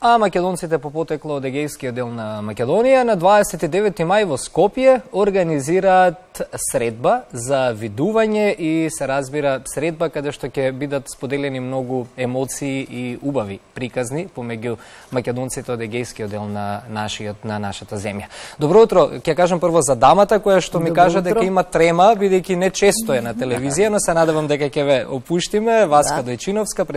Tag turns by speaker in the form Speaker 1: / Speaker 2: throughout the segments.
Speaker 1: А македонците по потекло од егејскиот дел на Македонија на 29 мај во Скопје организираат средба за видување и се разбира средба каде што ќе бидат споделени многу емоции и убави приказни помеѓу македонците од егејскиот дел на нашата земја. Добро утро, ќе кажам прво за дамата која што ми кажа дека има трема бидејќи не често е на телевизија, но се надевам дека ќе ве опуштиме. Васка Дојчиновска,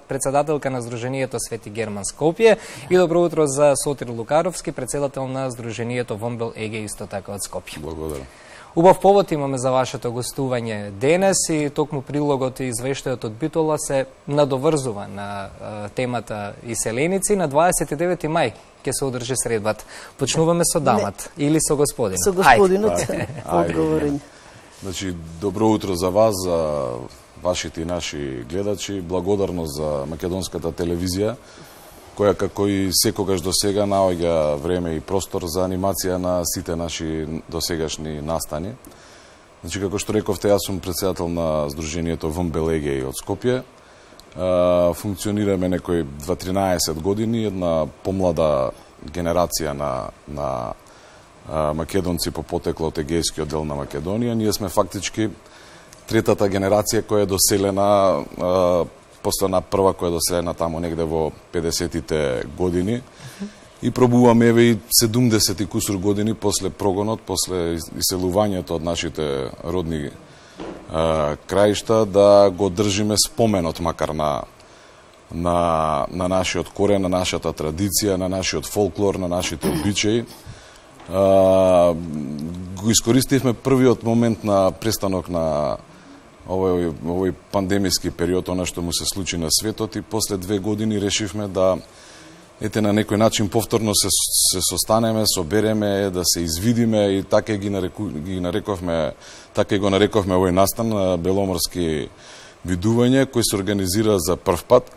Speaker 1: председателка на Сдруженијето Свети Герман Скопје. И добро утро за Сотир Лукаровски, председател на Сдруженијето Вомбел Еге, исто така од Скопје.
Speaker 2: Благодарам.
Speaker 1: Убав повод имаме за вашето гостување денес и токму прилогот и извештајот од Битола се надоврзува на темата иселеници. На 29 мај ќе се одржи средбата. Почнуваме со дамата или со господинот?
Speaker 3: Со господинот, одговорење.
Speaker 2: Значи, добро утро за вас, за вашите и наши гледачи. Благодарност за македонската телевизија, која како и секогаш до сега наоѓа време и простор за анимација на сите наши досегашни настани. Значи, како што рековте, јас сум председател на Сдруженијето Вомбел Еге од Скопје. Функционираме некои 13 години, една помлада генерација на македонци по потекло од егејскиот дел на Македонија. Ние сме фактички третата генерација која е доселена после на прва која доселена тамо негде во 50-тите години и пробуваме еве и 70 кусур години после прогонот, после иселувањето од нашите родни краишта да го држиме споменот макар на нашиот корен, на нашата традиција, на нашиот фолклор, на нашите обичаи. Го искористивме првиот момент на престанок на овој пандемиски период, она што му се случи на светот, и после 2 години решивме да на некој начин повторно се состанеме, собереме, да се извидиме и така го нарековме овој настан беломорски видување кој се организира за прв пат.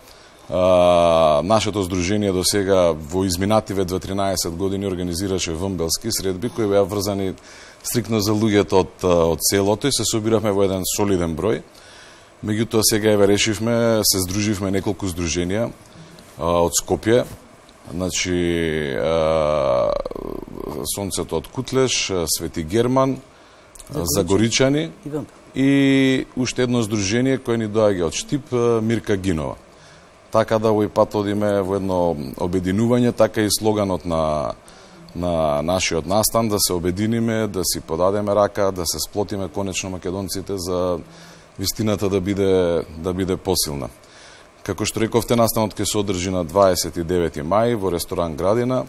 Speaker 2: Нашето здружение до сега во изминативе 13 години организираше вомбелски средби кои беа врзани стрикно за луѓето од селото и се собиравме во еден солиден број. Меѓутоа сега еве решивме, се здруживме неколку здруженија од Скопје, значи Сонцето од Кутлеш, Свети Герман, Загоричани и уште едно здружение кое ни доаѓа од Штип, Мирка Гинова. Така да овој пат одиме во едно обединување, така и слоганот на нашиот настан, да се обединиме, да си подадеме рака, да се сплотиме конечно македонците за вистината да биде посилна. Како што рековте, настанот ќе се одржи на 29 мај во ресторан Градина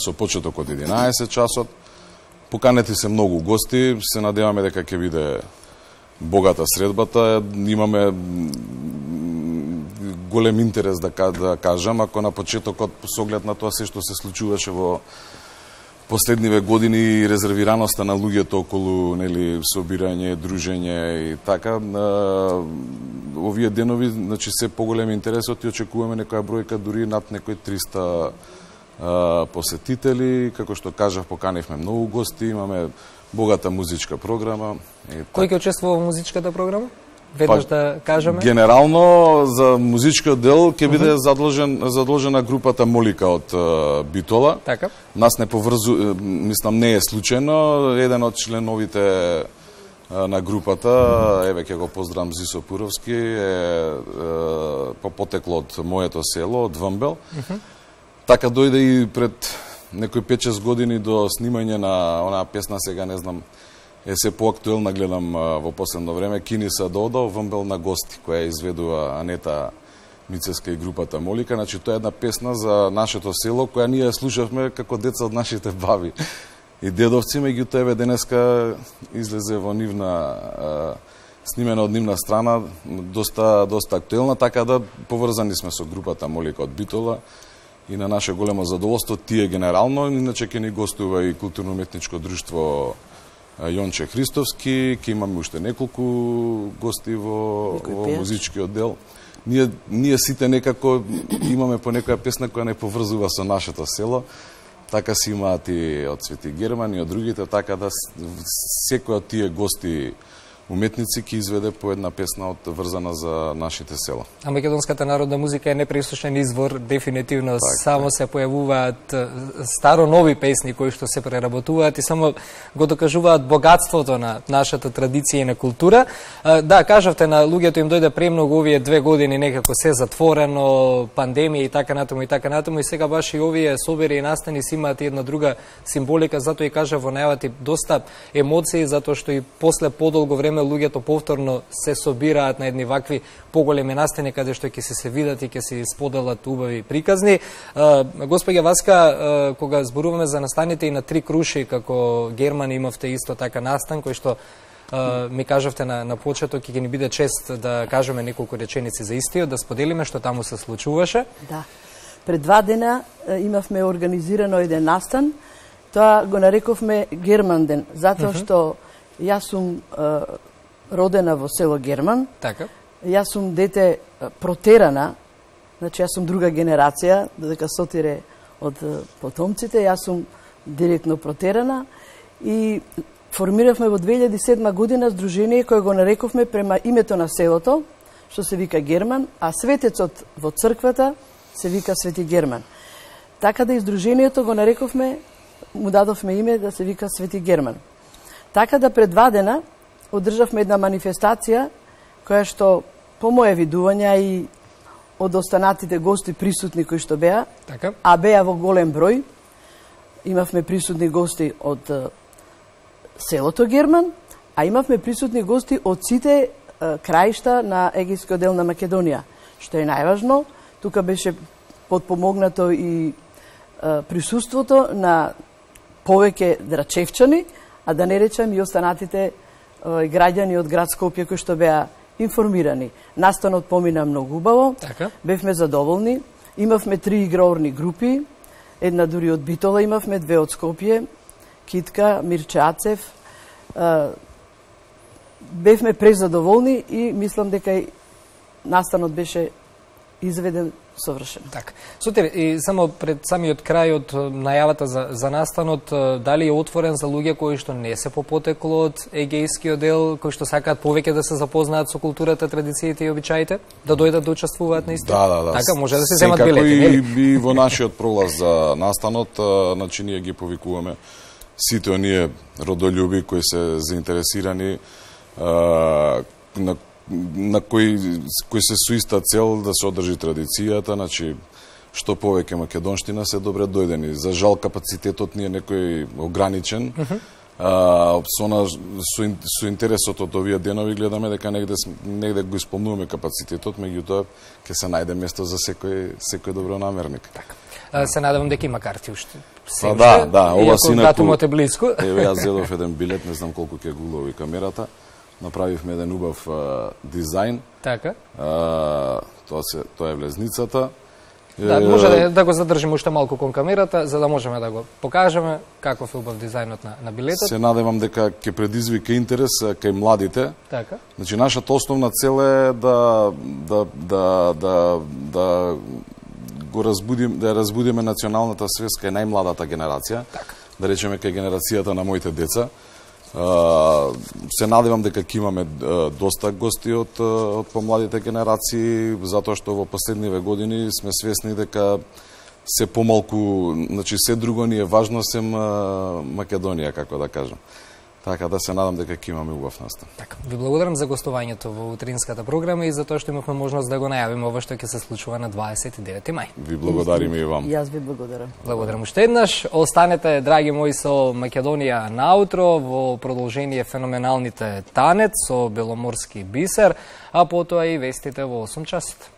Speaker 2: со почеток од 11 часот. Поканети се многу гости, се надеваме дека ќе биде богата средбата. Имаме голем интерес да кажам, ако на почетокот со оглед на тоа се што се случуваше во последниве години и резервираноста на луѓето околу собирање, дружење и така, овие денови, значи се поголем интересот и очекуваме некоја бројка дури над некои 300 посетители. Како што кажав, поканивме многу гости, имаме богата музичка програма.
Speaker 1: Кој ќе учествува во музичката програма? Веднаш да кажеме?
Speaker 2: Генерално за музичкиот дел ќе биде задолжена групата Молика од Битола.
Speaker 1: Така.
Speaker 2: Нас не поврзу, мислам не е случајно, еден од членовите на групата, еве ќе го поздравам, Зисо Пуровски, е по потекло од моето село, од Вомбел. Така дојде и пред некои 5-6 години до снимање на онаа песна, сега не знам, е се поактуелна, гледам во последно време, Кини са додо, Вомбел на гости, која изведува Анета Мицеска и групата Молика. Значи, тоа е една песна за нашето село, која ние слушавме како деца од нашите баби и дедовци, меѓутоа еве денеска излезе во нивна, снимена од нивна страна, доста актуелна, така да поврзани сме со групата Молика од Битола и на наше големо задоволство тие генерално, иначе ќе ни гостува и културно-уметничко друштво Јонче Христовски, ќе имаме уште неколку гости во музичкиот дел. Ние сите некако имаме по некоја песна која не поврзува со нашето село, така си имаат и од Свети Герман и од другите, така да секој од тие гости уметници ќе изведе по една песна врзана за нашите села.
Speaker 1: А македонската народна музика е непресушен извор, дефинитивно само се појавуваат старо-нови песни кои што се преработуваат и само го докажуваат богатството на нашата традиција и на култура. Да, кажавте, на луѓето им дојде премногу овие 2 години, некако се затворено, пандемија и така натаму и сега баш и овие собери и настани си имаат една друга символика, затоа и кажа во најавата доста емоции, затоа што и после подолго време луѓето повторно се собираат на едни вакви поголеми настани каде што ќе се видат и ќе се споделат убави приказни. Госпоѓа Васка, кога зборуваме за настаните и на Три круши, како Герман имавте исто така настан, кој што ми кажавте на почеток и ќе ни биде чест да кажеме неколку реченици за истиот, да споделиме што таму се случуваше.
Speaker 3: Да. Пред 2 дена имавме организирано еден настан, тоа го нарековме Герман ден, затоа што јас сум родена во село Герман.
Speaker 1: Така.
Speaker 3: Јас сум дете протерана, значи јас сум друга генерација, додека сотире од потомците, јас сум директно протерана и формиравме во 2007 година здружение кое го нарековме према името на селото, што се вика Герман, а светецот во црквата се вика Свети Герман. Така да и здружението го нарековме, му дадовме име да се вика Свети Герман. Така да пред 2 дена одржавме една манифестација која што по моје видување и од останатите гости присутни кои што беа,
Speaker 1: така,
Speaker 3: а беа во голем број, имавме присутни гости од селото Герман, а имавме присутни гости од сите краишта на егејскиот дел на Македонија, што е најважно. Тука беше подпомогнато и присуството на повеќе драчевчани, а да не речам и останатите граѓани од град Скопје кои што беа информирани. Настанот помина многу убаво,
Speaker 1: така,
Speaker 3: бевме задоволни, имавме 3 играорни групи, една дури од Битола имавме, 2 од Скопје, Китка, Мирче Ацев. Бевме презадоволни и мислам дека и настанот беше изведен совршено.
Speaker 1: Така. Сотир, и само пред самиот крај од најавата за настанот, дали е отворен за луѓе кои што не се по потекло од егејскиот дел, кои што сакаат повеќе да се запознаат со културата, традициите и обичаите, да дојдат да учествуваат на исто?
Speaker 2: Да.
Speaker 1: Така, може да се земат билети, нели?
Speaker 2: И во нашиот пролаз за настанот, значи ние ги повикуваме сите оние родолюби кои се заинтересирани, на кои се со иста цел да се одржи традицијата, значи што повеќе македонштина се добре дојдени. За жал капацитетот ни е некој ограничен. Со интересот од овие денови гледаме дека негде го исполнуваме капацитетот, меѓутоа ќе се најде место за секој добронамерник.
Speaker 1: Така. Се надевам дека има карти уште.
Speaker 2: Да, ова синаку.
Speaker 1: Датумот е близко.
Speaker 2: Еве јас зедов еден билет, не знам колку ќе го улови камерата. Направивме еден убав дизајн.
Speaker 1: Така.
Speaker 2: Тоа е влезницата.
Speaker 1: Да, може да го задржиме уште малку кон камерата, за да можеме да го покажеме каков е убав дизајнот на билетот.
Speaker 2: Се надевам дека ќе предизвика интерес кај младите.
Speaker 1: Така.
Speaker 2: Значи нашата основна цел е да разбудиме националната свест кај најмладата генерација.
Speaker 1: Така.
Speaker 2: Да речеме кај генерацијата на моите деца. Се надевам дека ќе имаме доста гости од помладите генерации, затоа што во последниве години сме свесни дека се помалку, значи се друго ни е важно сем Македонија, како да кажам. Така да се надам дека ќе имаме убав настан.
Speaker 1: Така, ви благодарам за гостувањето во утринската програма и за тоа што имавме можност да го најавиме ова што ќе се случува на 29 мај.
Speaker 2: Ви благодариме и вам.
Speaker 3: Јас ви благодарам.
Speaker 1: Благодарам уште еднаш. Останете, драги мои, со Македонија наутро во продолжение феноменалните танец со Беломорски бисер, а потоа и вестите во 8 часот.